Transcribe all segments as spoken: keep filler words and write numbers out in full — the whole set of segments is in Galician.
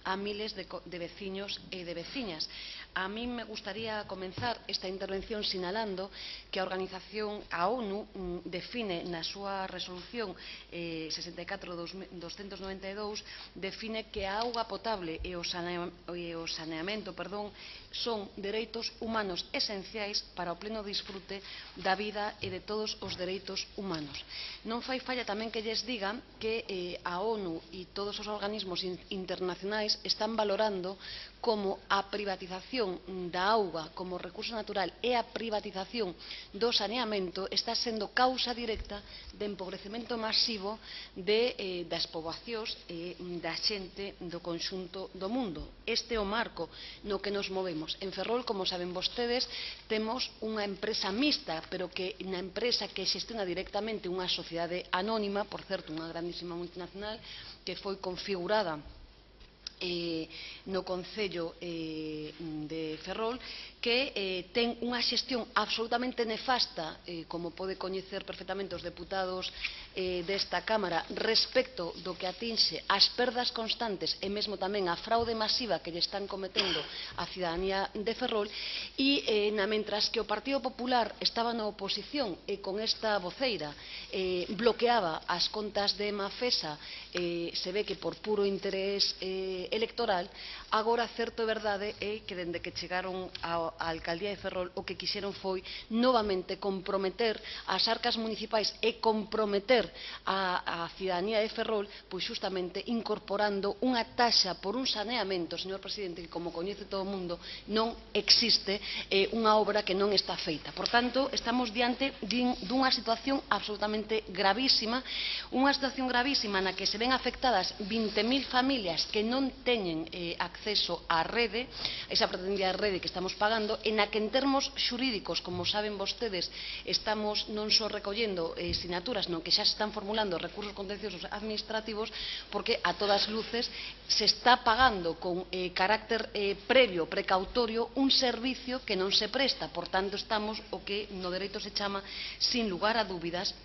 a miles de, de veciños e de veciñas. A mí me gustaría comenzar esta intervención sinalando que a organización, a ONU, define na súa resolución eh, sesenta e catro barra doscientos noventa e dous, define que a auga potable e o, sanea, e o saneamento perdón, son dereitos humanos esenciais para o pleno disfrute da vida e de todos os dereitos humanos. Non fai falla tamén que lles diga que eh, a ONU e todos os organismos internacionais están valorando como a privatización da auga como recurso natural e a privatización do saneamento está sendo causa directa de empobrecemento masivo de, eh, das poboacións e da xente do conxunto do mundo. Este é o marco no que nos movemos. En Ferrol, como saben vostedes, temos unha empresa mixta, pero que na empresa que xestiona directamente unha sociedade anónima, por certo, unha grandísima multinacional, que foi configurada Eh, no Concello eh, de Ferrol, que eh, ten unha xestión absolutamente nefasta, eh, como pode coñecer perfectamente os deputados eh, desta Cámara, respecto do que atinxe as perdas constantes e mesmo tamén a fraude masiva que lle están cometendo a cidadanía de Ferrol, e eh, na mentras que o Partido Popular estaba na oposición e con esta voceira eh, bloqueaba as contas de Mafesa, eh, se ve que por puro interés eh, electoral, agora certo e verdade é que dende que chegaron á alcaldía de Ferrol o que quixeron foi novamente comprometer as arcas municipais e comprometer a, a cidadanía de Ferrol, pois justamente incorporando unha taxa por un saneamento, señor presidente, que como coñece todo o mundo non existe eh, unha obra que non está feita. Por tanto, estamos diante dunha situación absolutamente gravísima, unha situación gravísima na que se ven afectadas vinte mil familias que non teñen eh, acceso á rede, esa pretendida rede que estamos pagando, en a que en termos xurídicos, como saben vostedes, estamos non só recollendo eh, sinaturas, non que xa se están formulando recursos contenciosos administrativos, porque a todas luces se está pagando con eh, carácter eh, previo, precautorio, un servicio que non se presta. Por tanto, estamos o que no dereito se chama, sin lugar a dúbidas,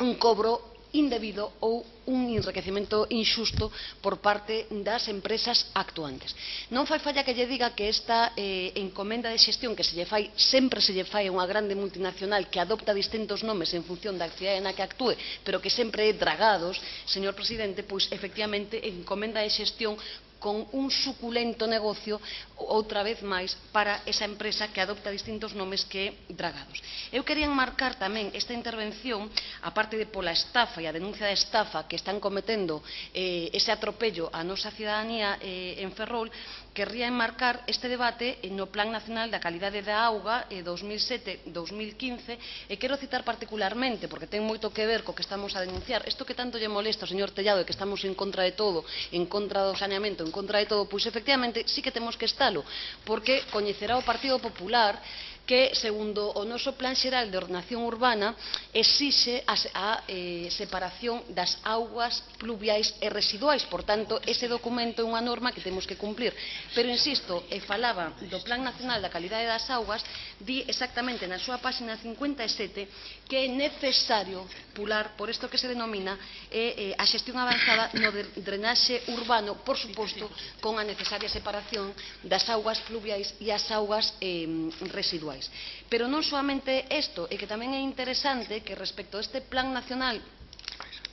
un cobro indebido ou un enriquecemento inxusto por parte das empresas actuantes. Non fai falla que lle diga que esta eh, encomenda de xestión que se lle fai, sempre se lle fai a unha grande multinacional que adopta distintos nomes en función da actividade na que actúe, pero que sempre é dragados, señor presidente, pois efectivamente encomenda de xestión con un suculento negocio, outra vez máis, para esa empresa que adopta distintos nomes que é Dragados. Eu quería enmarcar tamén esta intervención, aparte de pola estafa e a denuncia de estafa que están cometendo eh, ese atropello a nosa cidadanía eh, en Ferrol, querría enmarcar este debate no Plan Nacional da Calidade da Auga eh, dos mil sete a dos mil quince, e quero citar particularmente, porque ten moito que ver co que estamos a denunciar, isto que tanto lle molesta ao señor Tellado, de que estamos en contra de todo, en contra do saneamento, en contra de todo, pois efectivamente sí que temos que estalo, porque coñecerá o Partido Popular que, segundo o noso Plan Xeral de Ordenación Urbana, exixe a, a eh, separación das augas pluviais e residuais. Por tanto, ese documento é unha norma que temos que cumplir. Pero, insisto, e falaba do Plan Nacional da Calidade das Augas, di exactamente na súa páxina cincuenta e sete que é necesario pular por isto que se denomina eh, eh, a xestión avanzada no de drenaxe urbano, por suposto, con a necesaria separación das augas pluviais e as augas eh, residuais. Pero non soamente isto, é que tamén é interesante que respecto a este Plan Nacional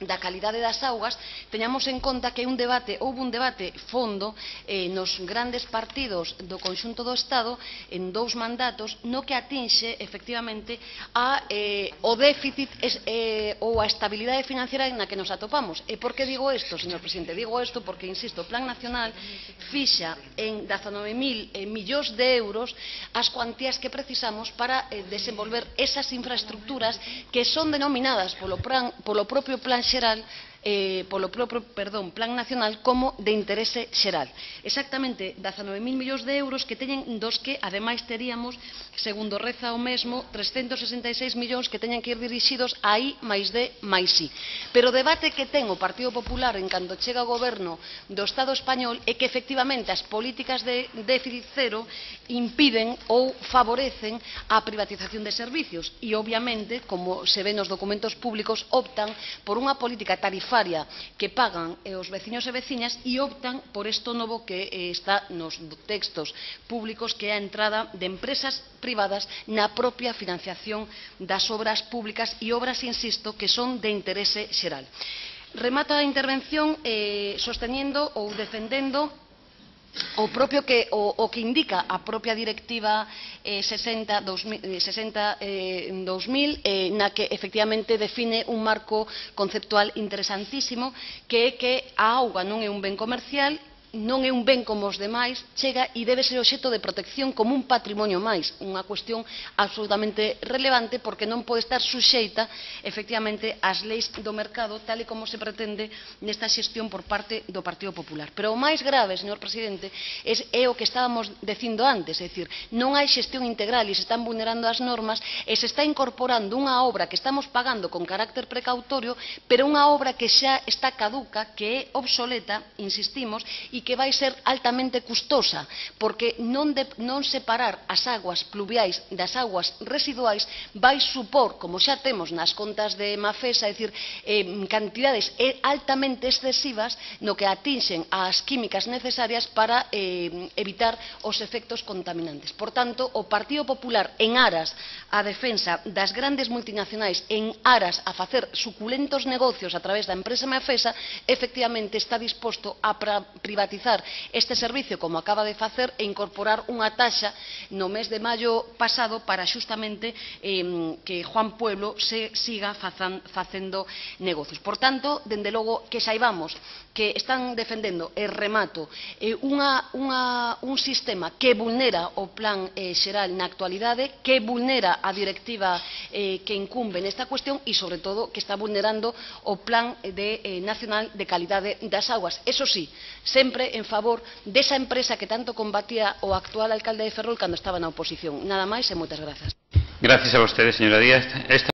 da calidade das augas teñamos en conta que un debate, houve un debate fondo eh, nos grandes partidos do conxunto do Estado en dous mandatos no que atinxe efectivamente a, eh, o déficit eh, ou a estabilidade financiera na que nos atopamos. E por que digo isto, señor presidente? Digo isto porque, insisto, o Plan Nacional fixa en dezanove mil eh, millóns de euros as cuantías que precisamos para eh, desenvolver esas infraestructuras que son denominadas polo, plan, polo propio Plan Xeral eh, polo propio perdón, Plan Nacional como de interese xeral. Exactamente dezanove mil millóns de euros que teñen dos que, ademais, teríamos, segundo reza o mesmo, trescentos sesenta e seis millóns que teñen que ir dirixidos a I máis D máis I. Pero o debate que ten o Partido Popular en canto chega ao goberno do Estado español é que, efectivamente, as políticas de déficit cero impiden ou favorecen a privatización de servicios e, obviamente, como se ve nos documentos públicos, optan por unha política tarifaria tarifaria que pagan eh, os veciños e veciñas e optan por isto novo que eh, está nos textos públicos, que é a entrada de empresas privadas na propia financiación das obras públicas e obras, insisto, que son de interese xeral. Remato a intervención eh, sostenendo ou defendendo o propio que o, o que indica a propia directiva eh, sesenta dos mil eh, na que efectivamente define un marco conceptual interesantísimo, que é que a auga non é un ben comercial, non é un ben como os demais, chega e debe ser obxecto de protección como un patrimonio máis, unha cuestión absolutamente relevante porque non pode estar suxeita efectivamente ás leis do mercado tal e como se pretende nesta xestión por parte do Partido Popular. Pero o máis grave, señor Presidente, é o que estábamos dicindo antes, é dicir, non hai xestión integral e se están vulnerando as normas e se está incorporando unha obra que estamos pagando con carácter precautorio, pero unha obra que xa está caduca, que é obsoleta, insistimos, e que vai ser altamente custosa, porque non, de, non separar as aguas pluviais das aguas residuais vai supor, como xa temos nas contas de Mafesa, é dicir, eh, cantidades altamente excesivas no que atinxen as químicas necesarias para eh, evitar os efectos contaminantes. Por tanto, o Partido Popular, en aras á defensa das grandes multinacionais, en aras a facer suculentos negocios a través da empresa Mafesa, efectivamente está disposto a privatizar este servicio como acaba de facer e incorporar unha taxa no mes de maio pasado para xustamente eh, que Juan Pueblo se siga fazan, facendo negocios. Por tanto, dende logo que saibamos que están defendendo, e remato, eh, unha, unha, un sistema que vulnera o plan eh, xeral na actualidade, que vulnera a directiva eh, que incumbe nesta cuestión e, sobre todo, que está vulnerando o plan de, eh, nacional de calidade das aguas. Eso sí, sempre en favor desa empresa que tanto combatía o actual alcalde de Ferrol cando estaba na oposición. Nada máis e moitas grazas. Gracias a vostedes, señora Díaz. Esta